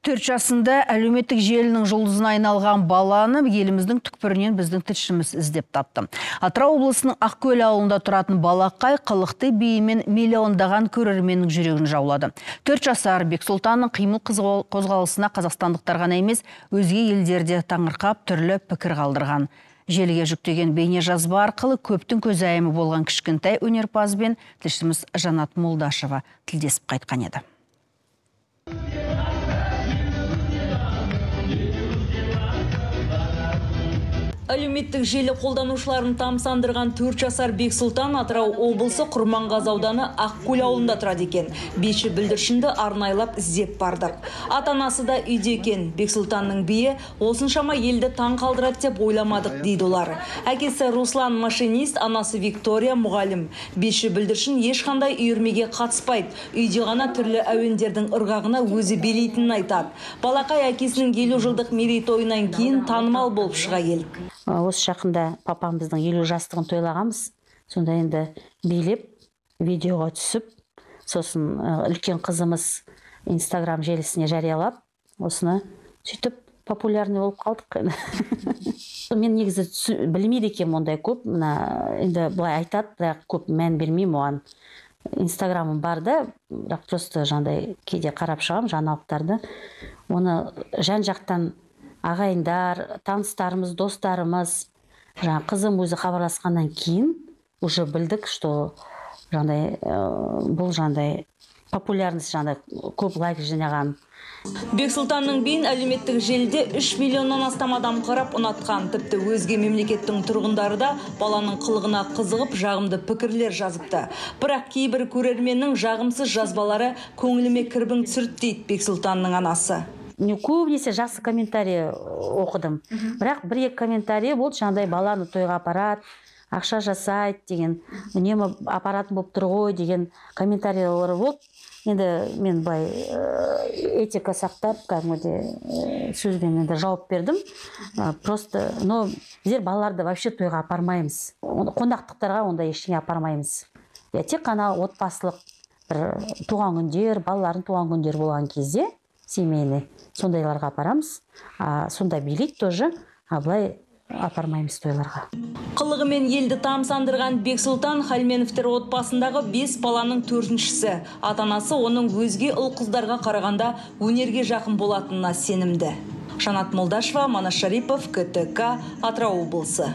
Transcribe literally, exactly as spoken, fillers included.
төрт жасында әлеуметтік желінің жұлдызына айналған баланы еліміздің түкпірінен біздің тілшіміз іздеп тапты. Атырау облысының Ақкөл ауылында тұратын балақай қылықты биімен миллиондаған көрерменнің жүрегін жаулады. төрт жасар Бексұлтанның қимыл қозғалысына қазақстандықтар ғана емес, өзге елдерде таңырқап түрлі пікір қалдырған. Желіге жүктеген бейне жазба арқылы көптің көзайымы болған кішкентай өнерпазбен тілшіміз Жанат Молдашева тілдесіп қайтқан еді. Әлеуметтік желі қолданушыларын тамсандырған төрт жасар Бексұлтан Атырау облысы Құрманғазы ауданы Ақкөл ауылында тұрады екен. Беші бүлдіршінді арнайлап іздеп бардық. Ата-анасы да үйде екен. Бексұлтанның биі осыншама елді таң қалдырады деп ойламадық дейді олар. Әкесі Руслан машинист, анасы Виктория мұғалім. Беші бүлдіршін ешқандай үйірмеге қатыспайды. Үйде ғана түрлі әуендердің ырғағына өзі билейтінін айтады. Балақай әкесінің елу жылдық мерейтойынан кейін танымал болып шыға келді. Осы жақында папамыздың елу жастығын тойлағанбыз. Сонда енді билеп, видеоға түсіп, сосын үлкен қызымыз Инстаграм желісіне жариялап, осыны сөйтіп популярный болып қалдық. Мен негізі білмейді екем ондай көп, енді былай айтады, бірақ көп мән бермеймін оған. Инстаграмым бар да, бірақ просто жандай кейде қарап шығам жаңалықтарды. Оны жан жақтан ағайындар, таныстарымыз, достарымыз, жаңа қызым өзі хабарласқаннан кейін уже білдік, что жандай бұл жандай популярность жандай көп лайк жинаған. Бексұлтанның биін әлеуметтік желіде үш миллионнан астам адам қарап ұнатқан. Тіпті өзге мемлекеттің тұрғындары да баланың қылығына қызығып, жағымды пікірлер жазыпты. Бірақ кейбір көрерменнің жағымсыз жазбалары көңіліме кірбің түсірді дейді Бексұлтанның анасы. Не көбінесе жақсы комментарий оқыдым. Бірақ бір-екі комментарий болды, жаңағыдай баланы тойға апарады, ақша жасайды деген, үнемі апаратын болып тұр ғой деген комментарийлер болды. Енді мен былай этика сақтап, кәдімгідей сөзбен енді жауап бердім. Просто, но біздер балаларды вообще тойға апармаймыз. Қонақтықтарға онда ештеңе апармаймыз. Тек қана отбасылық бір туған күндер, балалардың туған күндер болған кезде семейный сондайларға апарамыз. Сонда билейді тоже, а былай апармаймыз тойларға. Қылығымен елді тамсандырған Бексұлтан Халменовтер отбасындағы бес баланың төртіншісі. Ата-анасы оның өзге ұл қыздарға қарағанда өнерге жақын болатынына сенімді. Жанат Молдашева, Манас Шарипов, КТК, Атырау облысы.